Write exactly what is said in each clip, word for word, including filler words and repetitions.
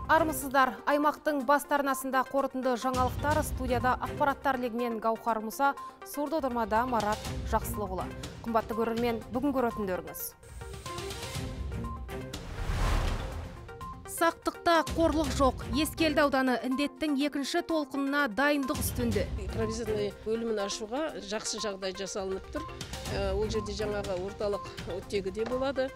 Армысыздар, аймақтың бастарнасында қорытынды жаңалықтар, студияда ақпараттар легімен Гаухар Мұса, сурды отырмада Марат Жақсылығұлы. Қымбатты көрермен, бүгін көретіндеріңіз. Сақтықта қорлық жоқ. Ескелді ауданы індеттің екінші толқынына дайындық үстінде. Провизорный бөлімін ашуға жақсы жағдай жасалынып тұр. Ол жерде жаңағы орталық оттегі де болады.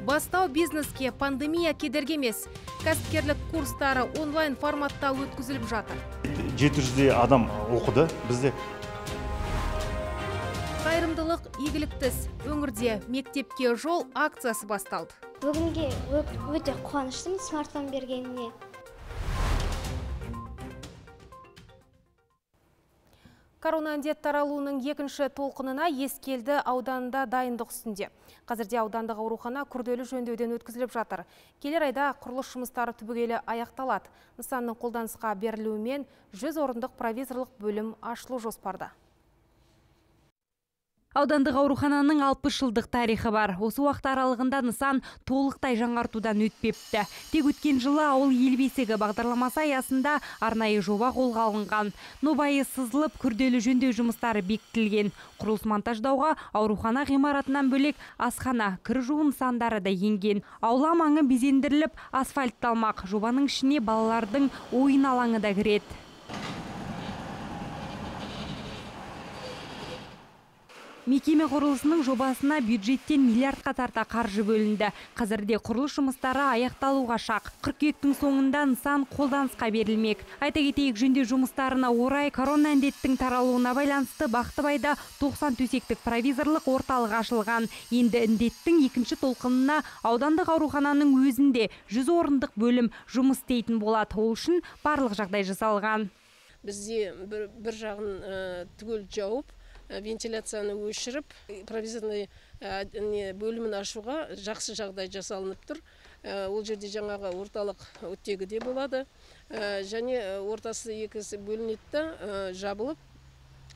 Бастау бизнеске пандемия кедергі емес. Кәсіпкерлік курстары онлайн форматта өткізіліп жатыр. жеті жүздей адам оқыды бізде. Қайырымдылық игіліктіс. Өңірде мектепке жол акциясы басталды. Бүгінге өте қуаныштымын смартфон бергеніне. Корона індет таралуының екінші толқынына Ескелді ауданында дайындық үстінде. Қазірде аудандық аурухана күрделі жөндеуден өткізіліп жатыр. Келер айда құрылыс жұмыстары түбегейлі аяқталады. Нысанның қолданысқа берілуімен жүз орындық провизорлық бөлім ашылу жоспарда. Аудандық аурухананың алпыс жылдық тарихы бар. Осы уақыт аралығында нысан толықтай жаңартудан өтпепті. Тек өткен жылы ауыл ел бесігі бағдарламасы аясында арнайы жоба қолға алынған. Нобайы сызылып, күрделі жөндеу жұмыстары бекітілген. Құрылыс монтаждауға аурухана ғимаратынан бөлек асхана, кір жуу нысандары да енген. Аула маңы безендіріліп, асфальтталмақ. Жобаның ішіне балалардың ойын алаңы да кіреді. Мекеме құрылысының жобасына бюджеттен миллиардқа тарта қаржы бөлінді. Қазірде құрылыс жұмыстары аяқталуға шақ. Қыркүйектің соңында нысан қолданысқа берілмек. Айта кетейік, жөндеу жұмыстарына орай корона індеттің таралуына байланысты Бақтыбайда тоқсан төсектік провизорлық орталық ашылған. Енді індеттің екінші толқынына аудандық аурухананың өзінде жүз орындық бөлім жұмыс істейтін болады. Ол үшін барлық жағдай жасалған. Бізде бір, бір жағын түгел жауып, вентиляцияны өшіріп, провизорный бөлімін ашуға жақсы жағдай жасалынып тұр. Ол жерде жаңағы орталық оттегі де болады. Және ортасы екісі бөлінетті жабылып,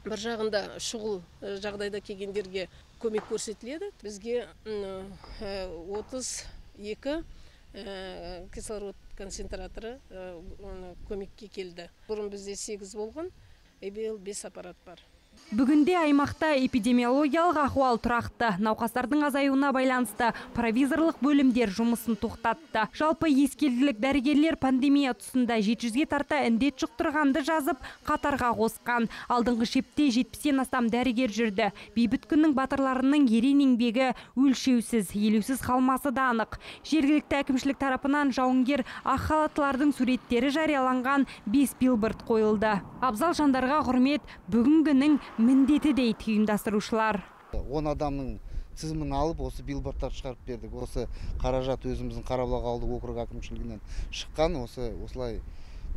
бір жағында шұғыл жағдайда келгендерге көмек көрсетіледі. Бізге отыз екі кислород концентраторы көмекке келді. Бұрын бізде сегіз болған, биыл бес аппарат бар. Бүгінде аймақта эпидемиологиялық ахуал тұрақты. Науқастардың азаюына байланысты провизорлық бөлімдер жұмысын тоқтатты. Жалпы ескелділік дәрігерлер пандемия тұсында жеті жүзге тарта індет жұқтырғанды жазып, қатарға қосқан. Алдыңғы шепте жетпістен астам дәрігер жүрді. Бейбіт күннің батырларының ерен еңбегі өлшеусіз, елеусіз қалмасы да анық. Жергілікті әкімшілік тарапынан жауынгер ақ халаттылардың суреттері жарияланған бес билборд қойылды. Абзал жандарға құрмет бүгінгінің міндеті дейді ұйымдастырушылар. он адамның тізімін алып, осы билбордтар шығарып бердік. Осы қаражат өзіміздің Қарабұлақ ауылдық округ әкімшілігінен шыққан. Осы осылай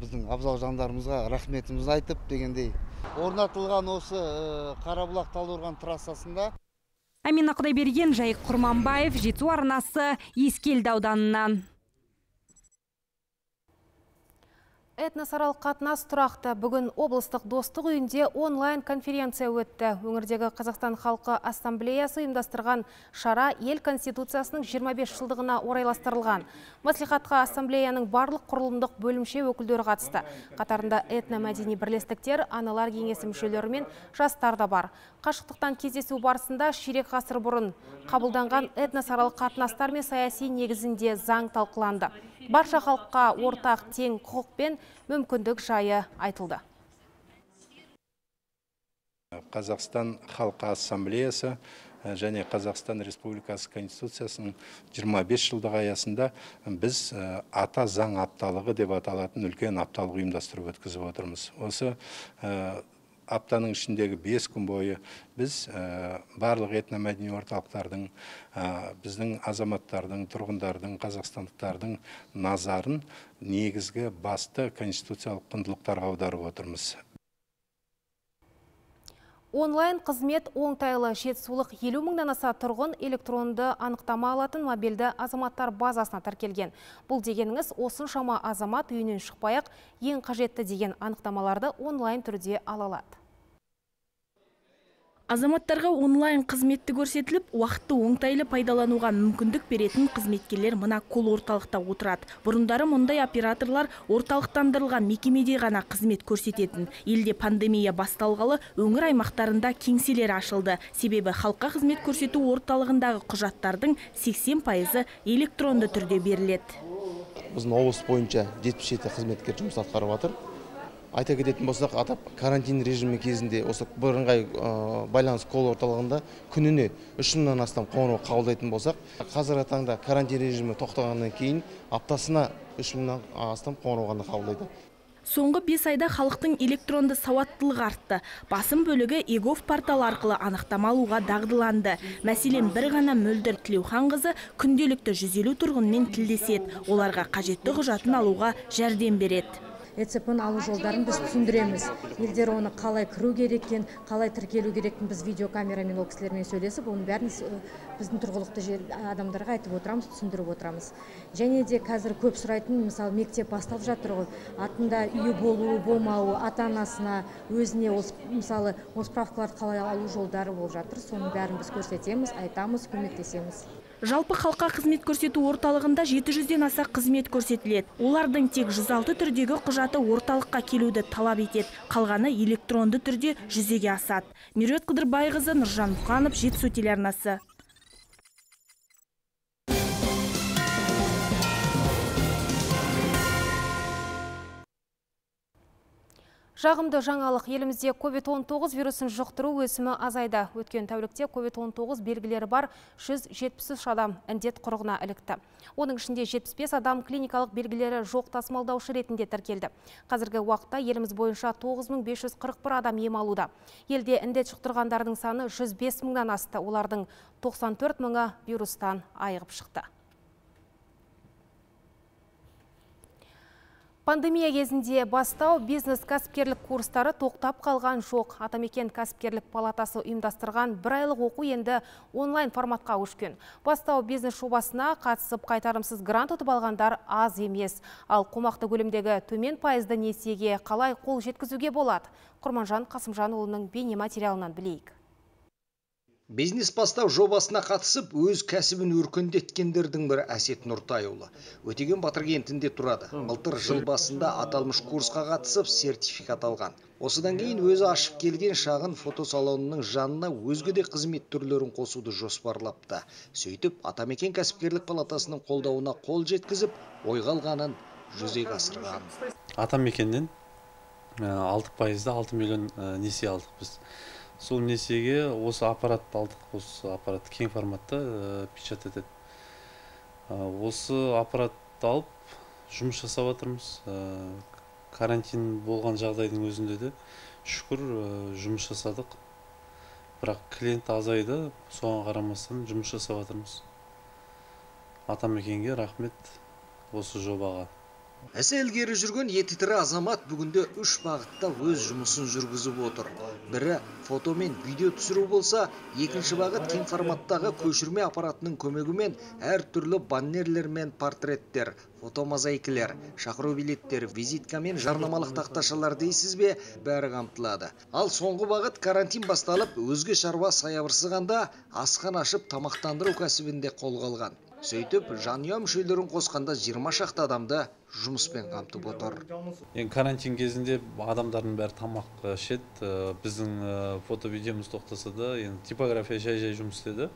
біздің абзал жандарымызға рахметімізді айтып дегендей. Орнатылған осы Қарабұлақ Талдықорған трассасында. Амина Құдайберген, Жайық Құрманбаев, Жетісу арнасы, Ескелді ауданынан. Этносаралық қатынас тұрақты. Бүгін облыстық достық үйінде онлайн конференция өтті. Өңірдегі Қазақстан халқы ассамблеясы ұйымдастырған шара ел конституциясының жиырма бес жылдығына орайластырылған. Маслихатқа ассамблеяның барлық құрылымдық бөлімше өкілдері қатысты. Қатарында этномәдени бірлестіктер, аналар кеңесі мүшелері мен жастар да бар. Қашықтықтан кездесу барысында ширек ғасыр бұрын қабылданған этносаралық қатынастар мен саяси негізінде заң талқыланды. Барша халыққа ортақ тең құқық пен мүмкіндік жайы айтылды. Қазақстан халқы ассамблеясы және Қазақстан Республикасы Конституциясының жиырма бес жылдығы аясында біз ата заң апталығы деп аталатын үлкен апталық ұйымдастырып өткізіп отырмыз. Осы аптаның ішіндегі бес күн бойы біз барлық этномәдени орталықтардың, біздің азаматтардың, тұрғындардың, қазақстандықтардың назарын негізгі басты конституциялық құндылықтарға аударып отырмыз. Онлайн қызмет оңтайлы. Жетісулық елу мыңнан аса тұрғын электронды анықтама алатын мобильді азаматтар базасына тіркелген. Бұл дегеніңіз осыншама азамат үйінен шықпай-ақ ең қажетті деген анықтамаларды онлайн түрде ала алады. Азаматтарға онлайн қызметті көрсетіліп, уақытты оңтайлы пайдалануға мүмкіндік беретін қызметкерлер мына кол орталықта отырады. Бұрындары мұндай операторлар орталықтандырылған мекемеде ғана қызмет көрсететін. Елде пандемия басталғалы өңір аймақтарында кеңселер ашылды. Себебі халыққа қызмет көрсету орталығындағы құжаттардың сексен пайызы электронды түрде беріледі. Біздің облыс бойынша жетпіс жеті қызметкер жұмыс атқарып жатыр. Айта кететін болсақ, атап карантин режимі кезінде осы бірыңғай байланыс кол орталығында күніне үш мыңнан астам қоңырау қабылдайтын болсақ, қазіргі таңда карантин режимі тоқтағаннан кейін аптасына үш мыңнан астам қоңырау ғана қабылдайды. Соңғы бес айда халықтың электронды сауаттылығы артты. Басым бөлігі егов порталы арқылы анықтама алуға дағдыланды. Мәселен, бір ғана Мөлдір Тілеухан қызы күнделікті жүз елу тұрғынмен тілдеседі. Оларға қажетті құжатын алуға жәрдем береді. ЭЦП-ны алу жолдарын біз түсіндіреміз. Елдер оны қалай кіру кереккен, қалай тіркелу кереккен біз видеокамерамен ол кісілермен сөйлесіп, оның бәрін біздің тұрғылықты адамдарға айтып отырамыз, түсіндіріп отырамыз. Және де қазір көп сұрайтын, мысалы, мектеп басталып жатыр ғой, атында үйі болуы, болмауы, ата-анасына, өзіне, мысалы, осы справкаларды қалай алу жолдары болып жатыр. Соның бәрін біз көрсетеміз, айтамыз, көмектесеміз. Жалпы халыққа қызмет көрсету орталығында жеті жүзден аса қызмет көрсетіледі. Олардың тек жүз алты түрдегі құжаты орталыққа келуді талап етеді. Қалғаны электронды түрде жүзеге асады. Меруерт Қыдырбайқызы, Нұржан Мұқанов, Жетісу телеарнасы. Жағымды жаңалық, елімізде ковид он тоғыз вирусын жұқтыру өсімі азайды. Өткен тәулікте ковид он тоғыз белгілері бар жүз жетпіс үш адам індет құрығына ілікті. Оның ішінде жетпіс бес адам клиникалық белгілері жоқ тасымалдаушы ретінде тіркелді. Қазіргі уақытта еліміз бойынша тоғыз мың бес жүз қырық бір адам ем алуда. Елде індет жұқтырғандардың саны жүз бес мыңнан асты. Олардың тоқсан төрт мыңы вирустан айығып шықты. Пандемия кезінде бастау бизнес-кәсіпкерлік курстары тоқтап қалған жоқ. Атамекен кәсіпкерлік палатасы ұйымдастырған бір айлық оқу енді онлайн форматқа көшкен. Бастау бизнес жобасына қатысып қайтарымсыз грант ұтып алғандар аз емес. Ал қомақты көлемдегі төмен пайызды несиеге қалай қол жеткізуге болады? Құрманжан Қасымжанұлының бейне материалынан білейік. Бизнес бастау жобасына қатысып, өз кәсібін өркендеткендердің бірі Әсет Нұртайұлы. Өтеген Батыр кентінде тұрады. Былтыр жыл басында аталмыш курсқа қатысып, сертификат алған. Осыдан кейін өзі ашып келген шағын фотосалонының жанына өзге де қызмет түрлерін қосуды жоспарлапты. Сөйтіп, Атамекен кәсіпкерлік палатасының қолдауына қол жеткізіп, ойға алғанын жүзеге асырған. Атамекеннен алты пайызда алты миллион несие алдық біз. Сол несиеге осы аппаратты алдық, осы аппарат кең форматта печат етеді. Осы аппаратты алып жұмыс жасап жатырмыз. Карантин болған жағдайдың өзінде де шүкір жұмыс жасадық. Бірақ клиент азайды, соған қарамастан жұмыс жасап жатырмыз. Атамекенге рахмет осы жобаға. Әсі ілгері жүрген еті тірі азамат бүгінде үш бағытта өз жұмысын жүргізіп отыр. Бірі фото мен видео түсіру болса, екінші бағыт кең форматтағы көшірме аппаратының көмегімен әр түрлі баннерлер мен портреттер, фотомозаикілер, шақыру билеттер, визитка мен жарнамалық тақташалар дейсіз бе, бәрі қамтылады. Ал соңғы бағыт карантин басталып, өзге шаруа саябырсығанда асхан ашып тамақтандыру кәсібінде қолға алған. Сөйтіп, жанұя мүшелерін қосқанда жиырма шақты адамды жұмыспен қамтып отыр. Карантин кезінде адамдардың бәрі тамақ ішеді. Біздің фото-видеомыз тоқтаса да, типография жай-жай жұмыс істеді.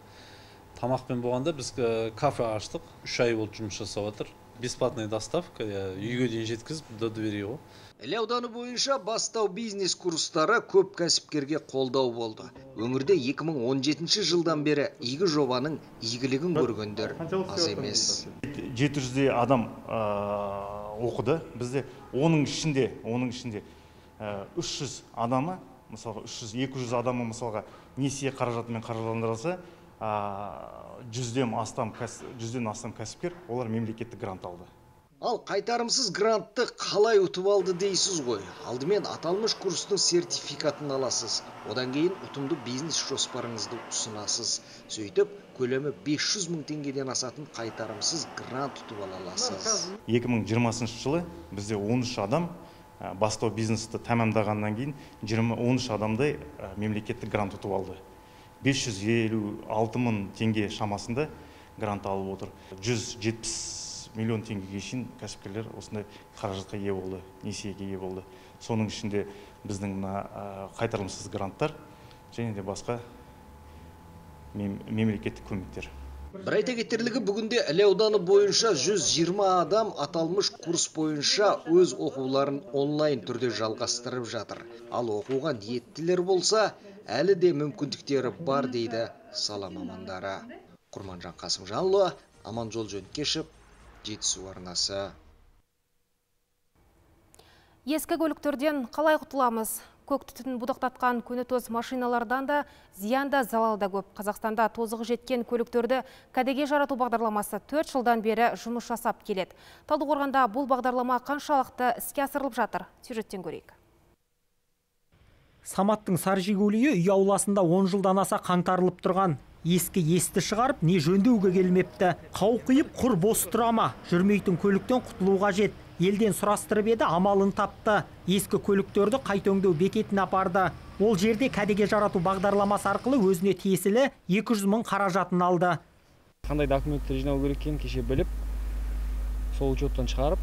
Тамақпен болғанда біз кафе аштық. үш ай болды жұмыс жасап отыр. Бесплатный доставка, үйге дейін жеткізіп, до двери ғой. Іле ауданы бойынша бастау бизнес курстары көп кәсіпкерге қолдау болды. Өңірде екі мың он жетінші жылдан бері игі жобаның игілігін көргендер аз емес. жеті жүздей адам оқыды. Бізде оның ішінде, оның ішінде үш жүз адамы, мысалға үш жүз екі жүз адамы мысалға несие қаражатымен қаржыландырылса, жүзден астам кәсіпкер олар мемлекеттік грант алды. Ал қайтарымсыз грантты қалай ұтып алды дейсіз ғой. Алдымен аталмыш курстың сертификатын аласыз. Одан кейін ұтымды бизнес жоспарыңызды ұсынасыз. Сөйтіп, көлемі бес жүз мың теңгеден асатын қайтарымсыз грант ұтып ала аласыз. екі мың жиырмасыншы жылы бізде он үш адам бастау бизнесті тәмамдағаннан кейін он үш адамдай мемлекеттік грант ұтып алды. бес жүз елу алты мың теңге шамасында грант алып отыр. жүз жетпіс миллион теңгеге шейін кәсіпкерлер осындай қаражатқа ие болды, несиеге ие болды. Соның ішінде біздің қайтарымсыз гранттар және де басқа мемлекеттік көмектер. Бір айта кетерлігі, бүгінде Іле ауданы бойынша жүз жиырма адам аталмыш курс бойынша өз оқуларын онлайн түрде жалғастырып жатыр. Ал оқуға ниеттілер болса, әлі де мүмкіндіктері бар дейді сала мамандары. Құрманжан Қасымжанұлы, Аманжол Жөнкешев, Жетісу арнасы. Ескі көліктерден қалай құтыламыз? Көк түтін будақтатқан көнетоз машиналардан да зиянда залалда көп. Қазақстанда тозығы жеткен көліктерді кәдеге жарату бағдарламасы төрт жылдан бері жұмыс жасап келеді. Талдықорғанда бұл бағдарлама қаншалықты іске асырылып жатыр? Сюжеттен көрейік. Саматтың сар жигулиі үй ауласында он жылдан аса қаңтарылып тұрған. Ескі есті шығарып, не жөндеуге келмепті. Қауқиып құр бос тұра ма? Жүрмейтін көліктен құтылуға жет. Елден сұрастырып еді, амалын тапты. Ескі көліктерді қайта өңдеу бекетіне апарды. Ол жерде кәдеге жарату бағдарламасы арқылы өзіне тиесілі екі жүз мың қаражатын алды. Қандай документтер жинау керек екенін кеше біліп, сол учеттан шығарып,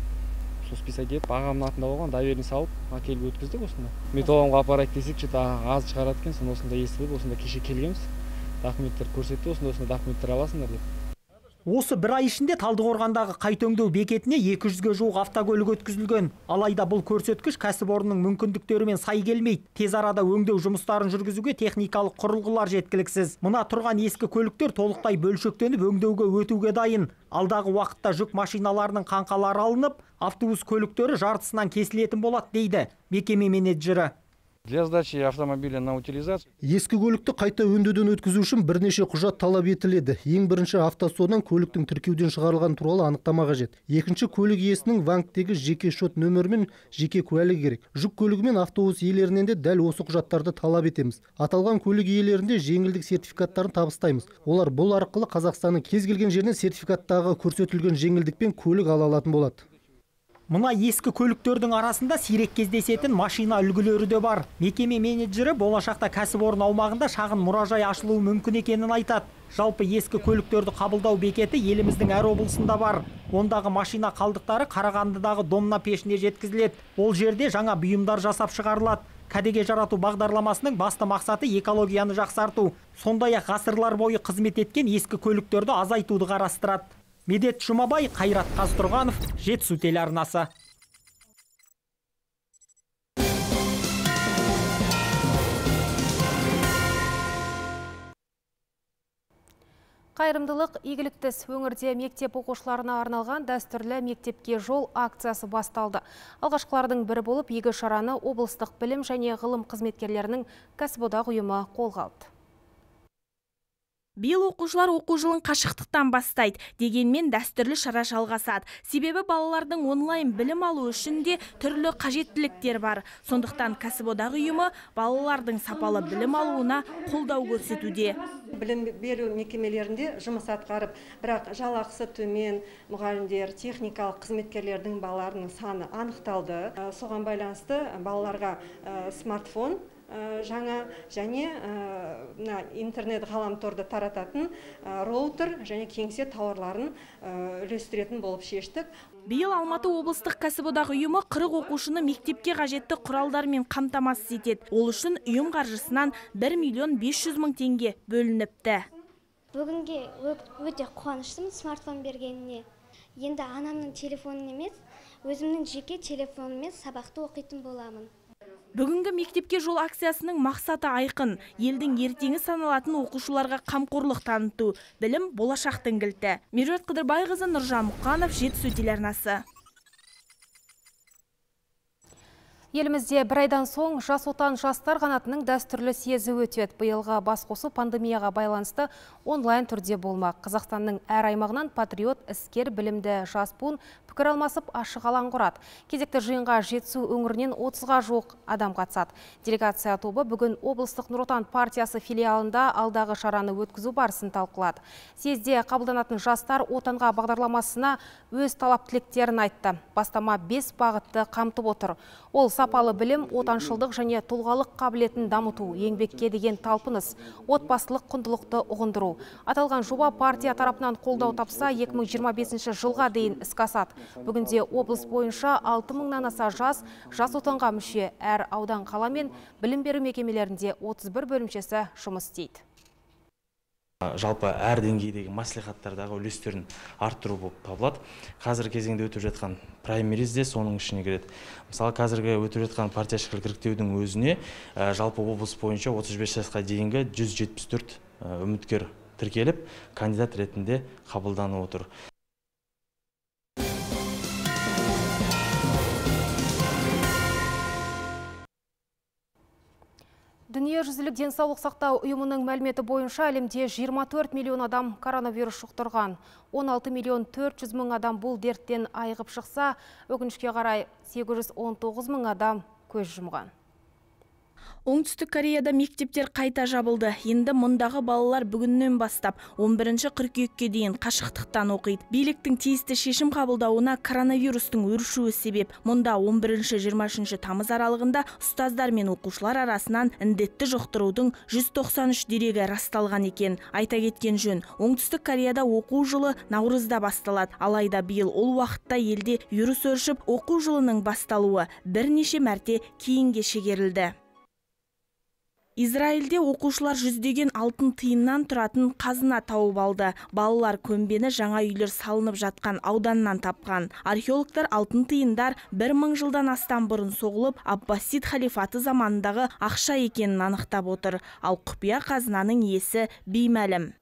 сол списать етіп, ағамның атында болған доверенность салып, әкеліп өткіздік осында. Металломға апарайық десек, что-то аз шығарады екен, соны осында естідік, осында кеше келгенбіз. Документтер көрсетті, осында осында документтер аласыңдар деп. Осы бір ай ішінде Талдықорғандағы қайта өңдеу бекетіне екі жүзге жуық автокөлік өткізілген. Алайда бұл көрсеткіш кәсіпорынның мүмкіндіктерімен сай келмейді. Тез арада өңдеу жұмыстарын жүргізуге техникалық құрылғылар жеткіліксіз. Мына тұрған ескі көліктер толықтай бөлшектеніп өңдеуге өтуге дайын. Алдағы уақытта жүк машиналарының қаңқалары алынып, автобус көліктері жартысынан кесілетін болады дейді мекеме менеджері. Для сдачи автомобиля на утилизацию. Ескі көлікті қайта өңдеуден өткізу үшін бірнеше құжат талап етіледі. Ең бірінші автосодан көліктің тіркеуден шығарылған туралы анықтама қажет. Екінші көлік иесінің банктегі жеке шот нөмірі мен жеке куәлігі керек. Жүк көлігі мен автобус иелерінен де дәл осы құжаттарды талап етеміз. Аталған көлік иелерінде жеңілдік сертификаттарын табыстаймыз. Олар бұл арқылы Қазақстанның кез келген жерінен сертификаттағы көрсетілген жеңілдікпен көлік ала алатын болады. Мына ескі көліктердің арасында сирек кездесетін машина үлгілері де бар. Мекеме менеджері болашақта кәсіпорын аумағында шағын мұражай ашылуы мүмкін екенін айтады. Жалпы ескі көліктерді қабылдау бекеті еліміздің әр облысында бар. Ондағы машина қалдықтары Қарағандыдағы домна пешіне жеткізіледі. Ол жерде жаңа бұйымдар жасап шығарылады. Кәдеге жарату бағдарламасының басты мақсаты экологияны жақсарту. Сондай-ақ ғасырлар бойы қызмет еткен ескі көліктерді азайтуды қарастырады. Медет Жұмабай, Қайрат Қазтұрғанов, Жетісу телеарнасы. Қайырымдылық игілікті өңірде мектеп оқушыларына арналған дәстүрлі мектепке жол акциясы басталды. Алғашқылардың бірі болып, игі шараны облыстық білім және ғылым қызметкерлерінің кәсіподақ ұйымы қолға алды. Биыл оқушылар оқу жылын қашықтықтан бастайды, дегенмен дәстүрлі шара жалғасады. Себебі балалардың онлайн білім алу үшін де түрлі қажеттіліктер бар. Сондықтан кәсіподақ ұйымы балалардың сапалы білім алуына қолдау көрсетуде. Білім беру мекемелерінде жұмыс атқарып, бірақ жалақысы төмен мұғалімдер, техникалық қызметкерлердің балаларының саны анықталды. Соған байланысты балаларға смартфон жаңа және интернет ғаламторды тарататын роутер және кеңсе тауарларын үлестіретін болып шештік. Биыл Алматы облыстық кәсіподақ ұйымы қырық оқушыны мектепке қажетті құралдармен қамтамасыз етеді. Ол үшін ұйым қаржысынан бір миллион бес жүз мың теңге бөлініпті. Бүгінге өте қуаныштымын смартфон бергеніне. Енді анамның телефонын емес, өзімнің жеке телефоныммен сабақты оқитын боламын. Бүгінгі мектепке жол акциясының мақсаты айқын. Елдің ертеңі саналатын оқушыларға қамқорлық таныту. Білім болашақтың кілті. Меруерт Қыдырбайқызы, Нұржан Мұқанов, Жетісу телеарнасы. Елімізде бір айдан соң жас отан жастар қанатының дәстүрлі съезі өтеді. Биылғы басқосу пандемияға байланысты онлайн түрде болмақ. Қазақстанның әр аймағынан патриот, іскер, білімді жас буын пікір алмасып ашық алаң құрады. Кезекті жиынға Жетісу өңірінен отызға жуық адам қатысады. Делегация тобы бүгін облыстық Нұр Отан партиясы филиалында алдағы шараны өткізу барысын талқылады. Съезде қабылданатын жастар отанға бағдарламасына өз талап тілектерін айтты. Бастама бес бағытты қамтып отыр. Ол сапалы білім, отаншылдық және тұлғалық қабілетін дамыту, еңбекке деген талпыныс, отбасылық құндылықты ұғындыру. Аталған жоба партия тарапынан қолдау тапса, екі мың жиырма бесінші жылға дейін іске асады. Бүгінде облыс бойынша алты мыңнан аса жас, жас отанға мүше, әр аудан қала мен білім беру мекемелерінде отыз бір бөлімшесі жұмыс істейді. Жалпы әр деңгейдегі маслихаттардағы үлестерін арттыру болып табылады. Қазіргі кезеңде өтіп жатқан праймериз де соның ішіне кіреді. Мысалы, қазіргі өтіп жатқан партияшылық іріктеудің өзіне жалпы облыс бойынша отыз бес жасқа дейінгі жүз жетпіс төрт үміткер тіркеліп, кандидат ретінде қабылданып отыр. Дүниежүзілік денсаулық сақтау ұйымының мәліметі бойынша әлемде жиырма төрт миллион адам коронавирус жұқтырған. он алты миллион төрт жүз мың адам бұл дерттен айығып шықса, өкінішке қарай сегіз жүз он тоғыз мың адам көз жұмған. Оңтүстік Кореяда мектептер қайта жабылды. Енді мұндағы балалар бүгіннен бастап он бірінші қыркүйекке дейін қашықтықтан оқиды. Биліктің тиісті шешім қабылдауына коронавирустың өршуі себеп. Мұнда он бірінші жиырма үшінші тамыз аралығында ұстаздар мен оқушылар арасынан індетті жұқтырудың жүз тоқсан үш дерегі расталған екен. Айта кеткен жөн, Оңтүстік Кореяда оқу жылы наурызда басталады. Алайда биыл ол уақытта елде вирус өршіп, оқу жылының басталуы бірнеше мәрте кейінге шегерілді. Израильде оқушылар жүздеген алтын тиыннан тұратын қазына тауып алды. Балалар көмбені жаңа үйлер салынып жатқан ауданнан тапқан. Археологтар алтын тиындар бір мың жылдан астам бұрын соғылып, Аббасид халифаты заманындағы ақша екенін анықтап отыр. Ал құпия қазынаның иесі беймәлім.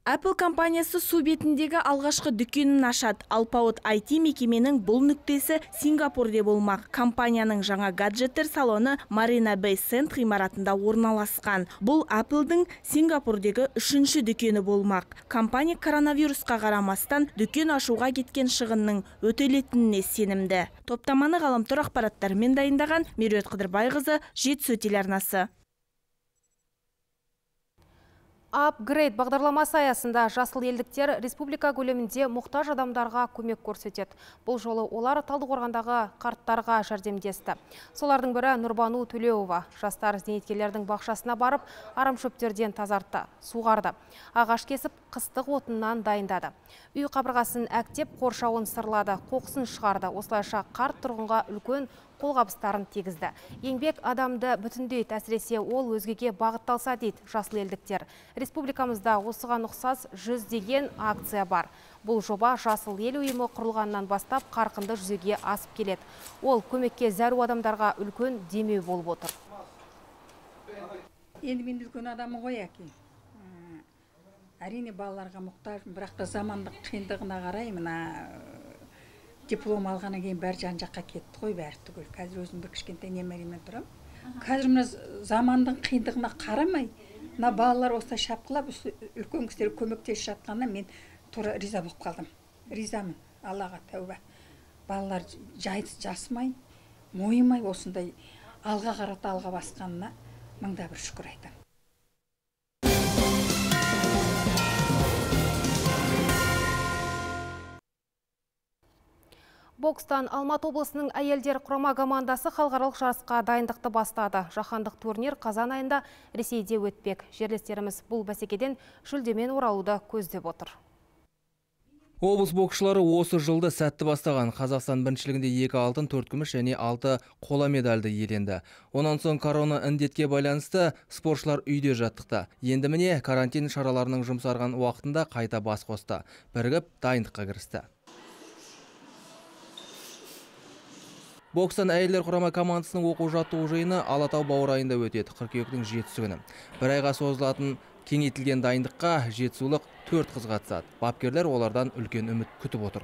Apple компаниясы су бетіндегі алғашқы дүкенін ашады. Алпауыт ай ти мекеменің бұл нүктесі Сингапурде болмақ. Компанияның жаңа гаджеттер салоны Marina Bay Sands ғимаратында орналасқан. Бұл Apple'дың Сингапурдегі үшінші дүкені болмақ. Компания коронавирусқа қарамастан дүкен ашуға кеткен шығынның өтелетініне сенімді. Топтаманы ғаламтор ақпараттарымен дайындаған Меруерт Қыдырбайқызы, Жетісу телеарнасы. Апгрейд бағдарламасы аясында жасыл елдіктер республика көлемінде мұқтаж адамдарға көмек көрсетеді. Бұл жолы олар Талдықорғандағы қарттарға жәрдемдесті. Солардың бірі Нұрбану Төлеуова. Жастар зейнеткерлердің бақшасына барып, арамшөптерден тазартты, суғарды. Ағаш кесіп, қыстық отыннан дайындады. Үй қабырғасын әктеп, қоршауын сырлады, қоқысын шығарды. Осылайша қарт тұрғынға үлкен қолғабыстарын тегізді. Еңбек адамды бүтіндейді, әсіресе ол өзгеге бағытталса дейді жасыл елдіктер. Республикамызда осыған ұқсас жүздеген акция бар. Бұл жоба жасыл ел ұйымы құрылғаннан бастап қарқынды жүзеге асып келеді. Ол көмекке зәру адамдарға үлкен демеу болып отыр. Енді мен үлкен адамы ғой әке. Әрине балаларға мұқтажмын, бірақ та замандық қиындығына қарай мына диплом алғаннан кейін бәрі жан жаққа кетті ғой, бәрі түгел. Қазір өзім бір кішкентай немеремен тұрам. Қазір мына замандың қиындығына қарамай, мына балалар осылай шапқылап, үлкен кісілер көмектесіп жатқанына мен тура риза болып қалдым. Ризамын, Аллаға тәуба. Балалар жасымай, мойымай осындай алға қарата алға басқанына мыңда бір шүкір айтамын. Бокстан Алматы облысының әйелдер құрама командасы халықаралық жарысқа дайындықты бастады. Жаһандық турнир қазан айында Ресейде өтпек. Жерлестеріміз бұл бәсекеден жүлдемен оралуды көздеп отыр. Облыс боксшылары осы жылды сәтті бастаған. Қазақстан біріншілігінде екі алтын, төрт күміс және алты қола медальді иеленді. Онан соң корона індетке байланысты спортшылар үйде жаттықты. Енді міне карантин шараларының жұмсарған уақытында қайта бас қосты. Бірігіп дайындыққа кірісті. Бокстан әйелдер құрама командасының оқу жаттығу жиыны Алатау баурайында өтеді, қыркүйектің жетісі күні. Бір айға созылатын кеңейтілген дайындыққа жетісулық төрт қыз қатысады. Бапкерлер олардан үлкен үміт күтіп отыр.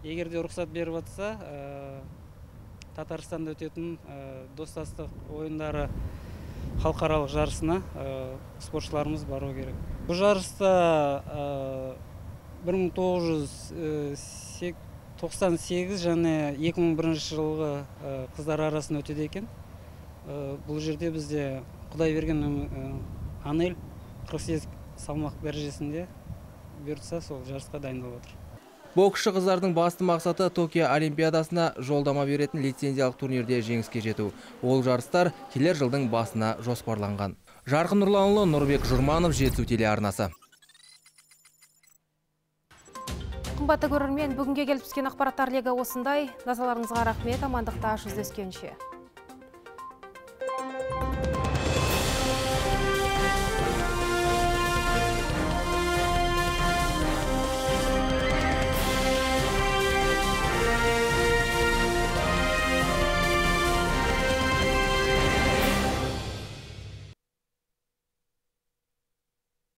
Егер де рұқсат беріп жатса, Татарстанда өтетін достастық ойындары халықаралық жарысына спортшыларымыз бару керек. Бұл жарыста бір мың тоғыз жүз тоқсан сегіз және екі мың бірінші жылғы қыздар арасында өтеді екен. Бұл жерде бізде Құдайберген Анель қырық сегіз салмақ дәрежесінде бұйыртса сол жарысқа дайындалып отыр. Боксшы қыздардың басты мақсаты Токио Олимпиадасына жолдама беретін лицензиялық турнирде жеңіске жету. Ол жарыстар келер жылдың басына жоспарланған. Жарқын Нұрланұлы, Нұрбек Жұрманов, Жетісу телеарнасы. Қымбатты көрермен, бүгінге келіп түскен ақпараттар легі осындай. Назарларыңызға рахмет, амандықта жүздескенше.